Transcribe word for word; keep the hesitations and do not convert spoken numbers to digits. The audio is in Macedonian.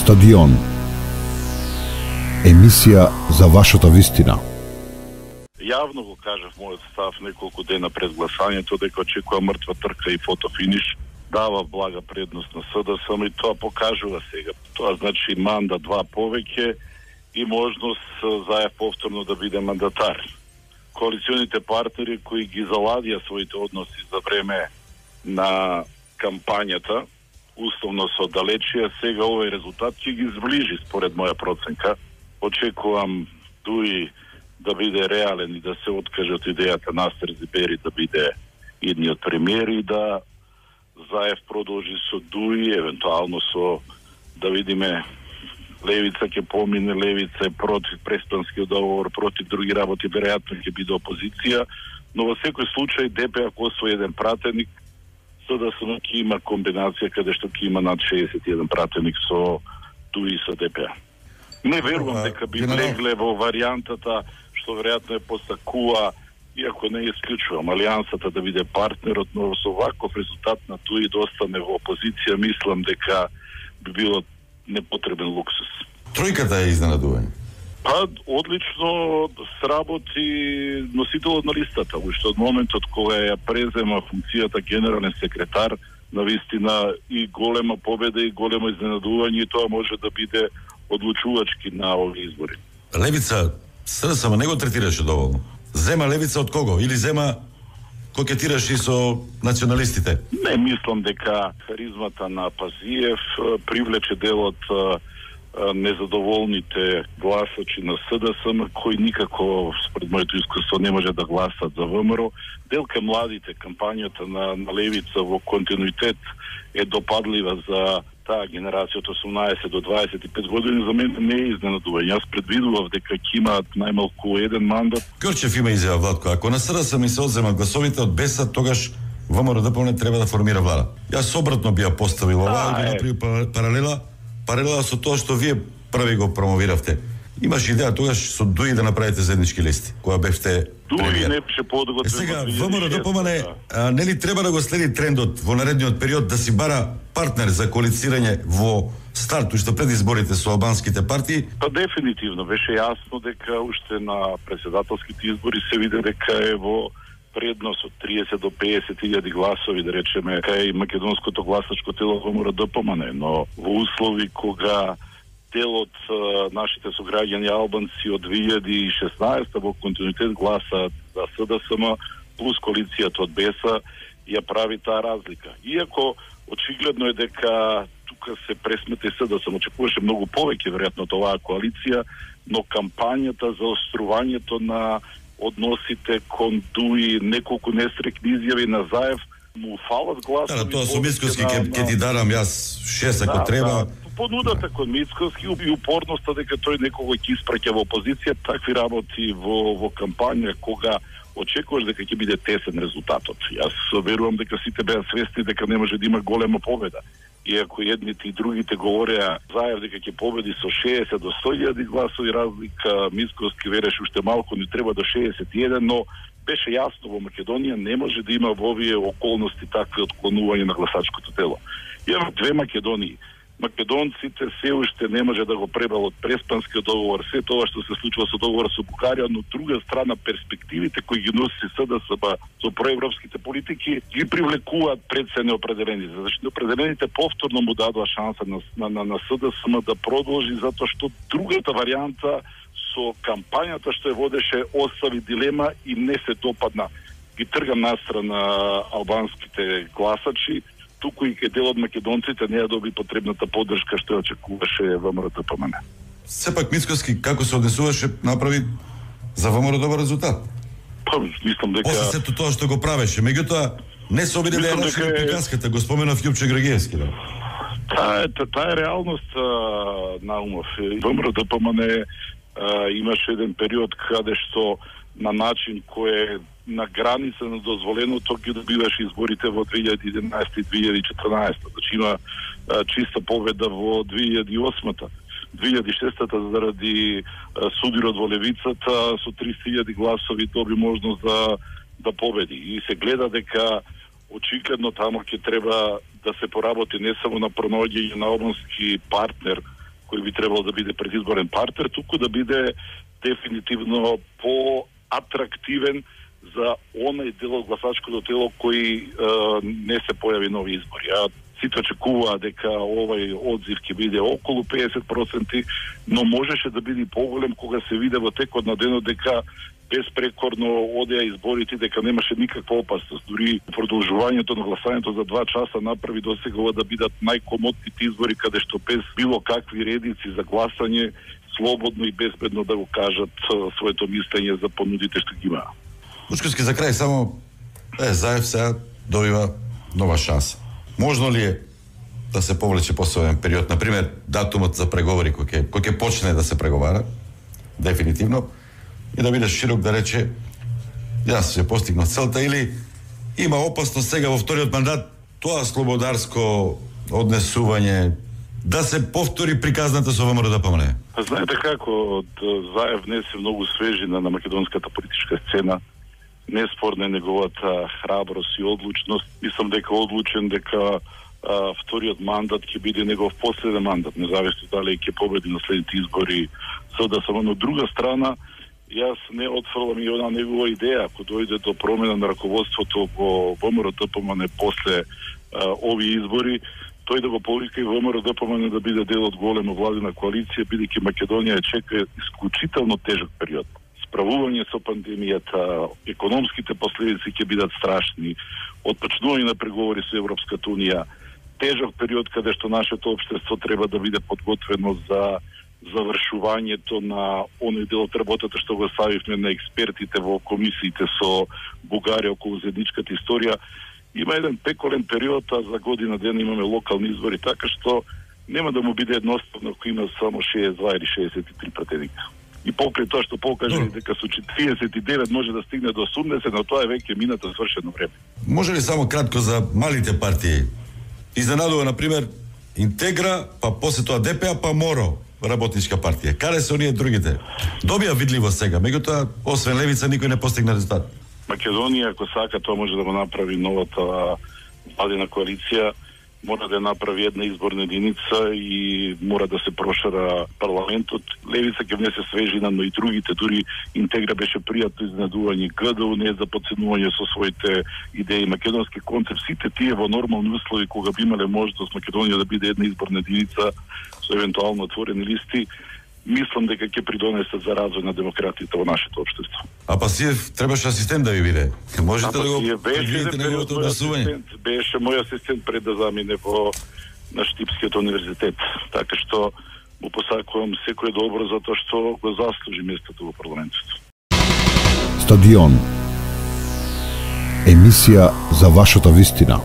Стадион. Емисија за вашата вистина. Јавно го кажав мојот став неколку дена пред гласањето дека очекувам мртва трка и фотофиниш. Дава блага предност на СДСМ и тоа покажува сега. Тоа значи манда два повеќе и можност Заев повторно да биде мандатар. Коалиционите партнери кои ги заладија своите односи за време на кампањата, условно со далечија, сега овој резултат ќе ги зближи според моја проценка. Очекувам Дуи да биде реален и да се откаже од идејата Настер Зибери да биде идниот премиер и да Заев продолжи со Дуи, евентуално со, да видиме, Левица ќе помине, Левица е против преспанскиот договор, против други работи, веројатно ќе биде опозиција, но во секој случај ДП ако освои еден пратеник, СДСМ ќе има комбинација каде што ќе има над шеесет и еден пратеник со Дуи и со ДП. Не верувам дека би влегле во варијантата што веројатно е постакува, иако не исклучувам алијансата да биде партнерот, но со ваков резултат на Дуи да остане во опозиција, мислам дека би било непотребен луксус. Тројката е изненадување. Па, одлично сработи носителот на листата, уште од моментот кога ја презема функцијата генерален секретар, навистина и голема победа и големо изненадување, и тоа може да биде одлучувачки на овие избори. Левица, СДСМ не го третираше доволно. Зема левица од кого? Или зема кокетираше со националистите? Не мислам дека харизмата на Пазиев привлече дел од незадоволните гласачи на СДСМ, кои никако, според моето искуство, не може да гласат за ВМРО. Делка младите, кампањата на, на левица во континуитет е допадлива за таа генерација од осумнаесет до дваесет и пет години. За мене не е изненадување. Јас предвидував дека ќе имаат најмалку еден мандат. Крчев има изјава, Владко. Ако на СДСМ се одземат гласовите од БЕСА, тогаш ВМРО ДПМН треба да формира влада. Јас обратно би ја поставил ова, и би направил паралела, паралела со тоа што вие први го промовиравте. Имаш идеја тогаш со Дуи да направите заеднички листи, која бевте Дуи не беше подготвен. Сега ВМРО ДПМН нели треба да го следи трендот во наредниот период да си бара партнер за коалицирање во старт уште пред изборите со албанските партии? Па дефинитивно беше јасно дека уште на председателските избори се виде дека е во предност од триесет до пеесет илјади гласови, да речеме, кај македонското гласачко тело ВМРО ДПМН, но во услови кога дел од нашите сограѓани албанци од две илјади и шеснаесета во континуитет гласаат за СДСМ плюс коалицијата од БЕСА, ја прави таа разлика. Иако очигледно е дека тука се пресмета и СДСМ, очекуваше многу повеќе веројатно од оваа коалиција, но кампањата за острувањето на односите кон Дуи, неколку нестрекни изјави на Заев, му фалат гласови. Да, тоа со Мицкоски ќе ти дарам јас шест ако да, треба. Да. Понудата кон Мицкоски и упорноста дека тој некого ќе испраќа во опозиција, такви работи во во кампања кога очекуваш дека ќе биде тесен резултатот. Јас верувам дека сите беа свесни дека не може да има голема победа. Иако едните и другите говореа Заев дека ќе победи со шеесет до сто илјади гласови разлика, Мицкоски вереше уште малку не треба до шеесет и еден, но беше јасно во Македонија не може да има во овие околности такви отклонување на гласачкото тело. Имаме две Македонии. Македонците се уште не може да го пребалат преспанскиот договор, се тоа што се случува со договор со Бугарија, но друга страна перспективите кои ги носи СДСМ со проевропските политики ги привлекуваат пред се неопределените. Зашто неопределените повторно му дадоа шанса на, на, на, на СДСМ да продолжи, затоа што другата варијанта со кампањата што ја водеше остави дилема и не се допадна. Ги трга настрана албанските гласачи, туку и кај дел од македонците не ја доби потребната поддршка што ја очекуваше ВМРО ДПМН. Сепак Мицкоски како се однесуваше направи за ВМРО добар резултат. Па мислам дека после сето тоа што го правеше, меѓутоа не се обиде да ја расшири дека... приказката, го споменав Јупче Грагиевски, да. Таа е таа е реалност на умов. ВМРО ДПМН имаше еден период каде што на начин кој е на граница на дозволеното ги добиваше изборите во две илјади и единаесета и две илјади и четрнаесета. Значи има а, чиста победа во две илјади и осмата. две илјади и шестата заради а, судирот во левицата со триста илјади гласови доби можност да да победи. И се гледа дека очигледно тамо ќе треба да се поработи не само на пронаоѓање на албански партнер кој би требало да биде предизборен партнер, туку да биде дефинитивно по-атрактивен за онај дел од гласачкото тело кој е, не се појави нови избори. А сите очекуваа дека овој одзив ќе биде околу педесет проценти, но можеше да биде поголем кога се виде во текот на денот дека безпрекорно одеа изборите, дека немаше никаква опасност. Дури продолжувањето на гласањето за два часа направи досега да бидат најкомотните избори каде што без било какви редици за гласање слободно и безбедно да го кажат своето мислење за понудите што ги имаа. Лучковски, за крај само е, Заев сега добива нова шанса. Можно ли е да се повлече посебен период, например, датумот за преговори кој ќе кој ќе почне да се преговара дефинитивно и да биде широк да рече јас ќе постигнав целта, или има опасност сега во вториот мандат тоа слободарско однесување да се повтори приказната со ВМРО да помне? Знаете како, Заев внесе многу свежина на македонската политичка сцена. Неспорна е неговата храброст и одлучност. Мислам дека одлучен дека а, вториот мандат ќе биде негов последен мандат, независно дали ќе победи на следните избори СДСМ. Но од друга страна, јас не отфрлам и она негова идеја, ако дојде до промена на раководството во ВМРО-ДПМН после а, овие избори, тој да го повика и ВМРО-ДПМН да биде дел од голема владина коалиција, бидејќи Македонија чека исклучително тежок период. Справување со пандемијата, економските последици ќе бидат страшни, отпочнување на преговори со Европската унија, тежок период каде што нашето општество треба да биде подготвено за завршувањето на оној дел од работата што го ставивме на експертите во комисиите со Бугарија околу заедничката историја. Има еден пеколен период, а за година дена имаме локални избори, така што нема да му биде едноставно ако има само шеесет и два или шеесет и три пратеника. И покрај тоа што покаже no. дека со триесет и девет може да стигне до осумдесет, но тоа е веќе минато свршено време. Може ли само кратко за малите партии? Изненадува, например, Интегра, па после тоа ДПА, па МОРО, работничка партија. Каде се оние другите? Добија видливо сега, меѓутоа, освен Левица, никој не постигна резултат. Македонија, ако сака, тоа може да го направи новата владина коалиција, мора да направи една изборна единица и мора да се прошира парламентот. Левица ќе внесе свежина, но и другите, дури Интегра беше пријатно изненадување, ГДУ не е за подценување со своите идеи, македонски концепт, сите тие во нормални услови кога би имале можност Македонија да биде една изборна единица со евентуално отворени листи, мислам дека ќе придонесат за развој на демократијата во нашето општество. А Пасиев требаше асистент да ви биде. Можете да го предвидите неговото однесување? Беше мој асистент пред да замине во на Штипскиот универзитет. Така што му посакувам секој добро затоа што го заслужи местото во парламентот. Стадион. Емисија за вашата вистина.